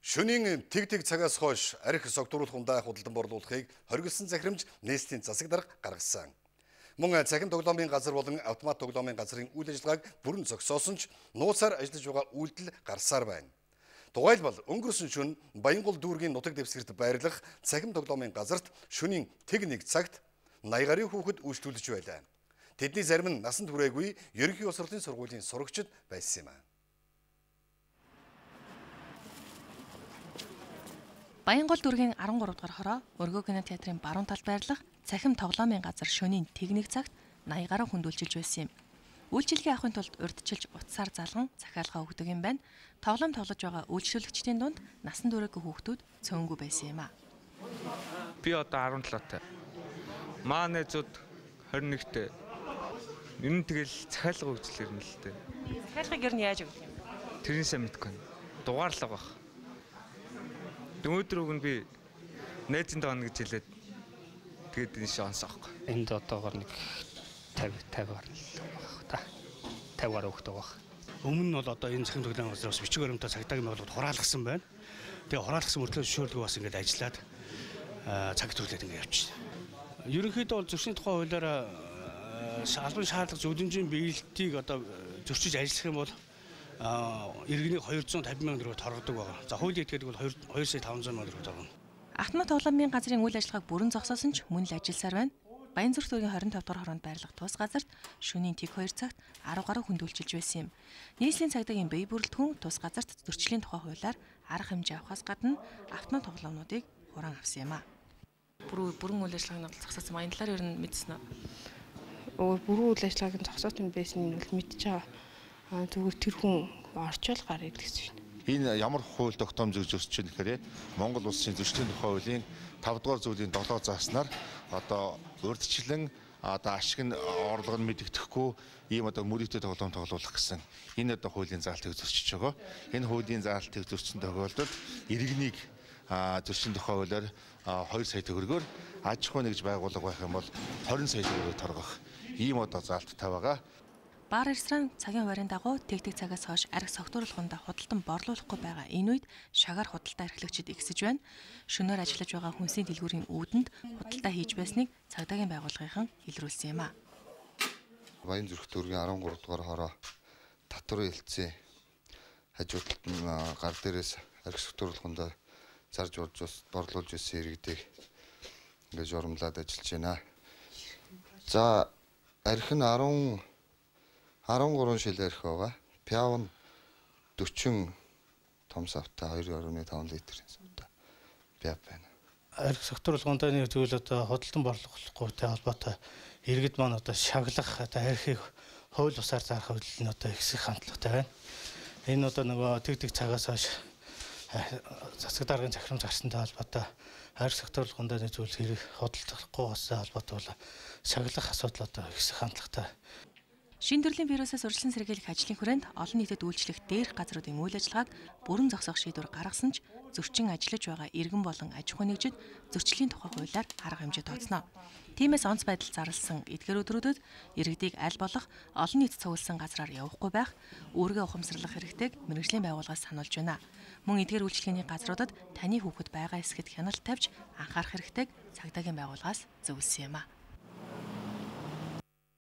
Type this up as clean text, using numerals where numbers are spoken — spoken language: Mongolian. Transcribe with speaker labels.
Speaker 1: Шөнийн тэг цагаас хойш арх согтууруулах ундаа худалдан борлуулахыг хоригдсан захирамж нийслэлийн засаг дарга гаргасан. Мөн цахим тоглоомын газар болон автомат тоглоомын газрын үйл ажиллагааг бүрэн зогсоосон ч нууцаар ажиллаж байгаа үйлдэл гарсаар байна. Тухайлбал өнгөрсөн шөнө Баянгол дүүргийн нутаг дэвсгэрт байрлах цахим тоглоомын газарт шөнийн тэг цагт 80 гаруй хүүхэд үйлчлүүлж байлаа. Тэдний зарим нь насанд хүрээгүй ерөнхий улс хурлын сургуулийн сурагчид байсан юм а.
Speaker 2: Баянгол дүүргийн 13 дугаар хороо Өргөө кино театрын баруун талд байрлах цахим тоглоомын газар шөнийн тэг цагт 80 гаруй хүнд үйлчилж байсан юм. Үйлчилгээ авахын тулд урьдчилж утсаар залган захиалга өгдөг юм байна. Тоглоом тоглож байгаа үйлчлүүлэгчдийн дунд насан туршаагүй хүүхдүүд цөөнгүй байсан юм а.
Speaker 3: Би одоо 17-тай. Маань зүүд 21-тэй. Энэ тэгэл захиалга өгчлээ юм л дээ.
Speaker 2: Захиалгыг ер нь яаж өгдөг юм?
Speaker 3: Тэрнээсээ мэдгүй. Дугаарлага баг. Өнөөдөр өгн би найзын доон гэж хэлээд тэгээд энэ шанс авахгүй.
Speaker 4: Энд одоогоор нэг 50 гарна л баг. 50 гаруй өгдөг баг. Өмнө нь бол одоо энэ цахим тоглоомын газраас бичиг баримтаа цагдаагийн байгууллагад хураалгасан байна. Тэгээ хураалгасан мөртлөө зөвшөөрлөгөө бас ингээд ажиллаад цаг төрлөөд ингээд явчихсан. Ерөнхийдөө бол зөрчлийн тухай хуулиар албан шаардлага зөвлөмжийн биелэлтийг одоо зөрчиж ажиллах юм бол иргэнийг 250 сая төгрөгөөр торгодог байна. За хуулийн этгээдэг бол 2 сая 500 сая төгрөг торгоно.
Speaker 2: Автомат тоглоомын газрын үйл ажиллагааг бүрэн зогсоосон ч мөн л ажилласаар байна. Баянзүрх дүүргийн 25 дугаар хороонд байрлах тус газарт шөнийн тэг 2 цагт 10 гаруй хүнд үйлчилж байсан юм. Нийслэлийн цагдаагийн бие бүрэлдэхүүн тус газарт зөрчлийн тухай хуулиар арга хэмжээ авахаас гадна автомат тоглоомнуудыг хураан авсан юм а. Бүрэн үйл ажиллагааг нь зогсоосон. Энэ талаар ер нь мэдсэн үү?
Speaker 5: Бүрэн үйл ажиллагааг нь зогсоосон байсан нь бол мэдчихэж байгаа. Зүгээр тэр хүн орчоол гарыг гэсэн юм.
Speaker 6: Энэ ямар хууль тогтоом зөвшөөрч чинь гэхээр Монгол улсын зөрчлийн тухай хуулийн 5 дугаар зүйлийн 7 зааснаар одоо урьдчилан одоо ашиг нь орлого нь мэдэгдэхгүй ийм одоо мөрөгтэй тоглоом тоглуулах гэсэн энэ одоо хуулийн заалтыг зөрчиж байгаа. Энэ хуулийн заалтыг зөрчсөн тохиолдолд иргэнийг зөрчлийн тухай хуулиар 2 сая төгрөгөөр аж ахуй нэгж байгууллага байх юм бол 20 сая төгрөгөөр торгох ийм одоо заалттай байгаа.
Speaker 2: Бар ресторан цагийн хуваарийн дагуу тэг цагаас хойш арх согтууруулахундаа худалдан борлуулахгүй байгаа энэ үед шагаар худалдаа эрхлэгчид ихсэж байна. Шөнөөр ажиллаж байгаа хүнсийн дэлгүүрийн үүдэнд худалдаа хийж байсныг цагдаагийн байгууллагын илрүүлсэн юм а.
Speaker 7: Баянзүрх дүүргийн 13 дугаар хороо татвар хэлцээ хажуудалд нь гар дээрээс арх согтууруулахундаа зарж борлуулж ирсэн иргэдэг ингээд журамлаад ажиллаж байна. За арх нь 13 шил арх байгаа. Пяв нь 40 том савтай 2.5 литрийн савтай пяв байна.
Speaker 4: Арх согтууруулгундаа нэг зүйл одоо худалдан борлуулахгүйтэй холбоотой иргэд маань одоо шаглах одоо архийг хууль бусаар зарах хөдөл нь одоо ихсэх хандлагатай байна. Энэ одоо нөгөө тэг цагаас хойш засаг даргын захирамж гарсантай холбоотой арх согтууруулгундаа нэг зүйл хэрэг худалдахгүй болсон холбоотой бол шаглах асуудал одоо ихсэх хандлагатай.
Speaker 2: Шинэ төрлийн вирусаас урьдчилан сэргийлэх ажлын хүрээнд олон нийтэд үйлчлэх дээрх газруудын үйл ажиллагааг бүрэн зогсоох шийдвэр гаргасан ч зөрчин ажиллаж байгаа иргэн болон аж ахуй нэгжид зөрчлийн тухай хуулиар арга хэмжээ тооцно. Тиймээс онц байдал зарласан эдгээр өдрүүдэд иргэдийг аль болох олон нийт цугласан газраар явахгүй байх, үүргээ ухамсарлах хэрэгтэйг мэргэжлийн байгууллагаас сануулж байна. Мөн эдгээр үйлчлэгээний газруудад таны хүүхэд байгаа эсэхэд хяналт тавьж анхаарах хэрэгтэйг цагдаагийн байгууллагаас зөвлөсөн юм а.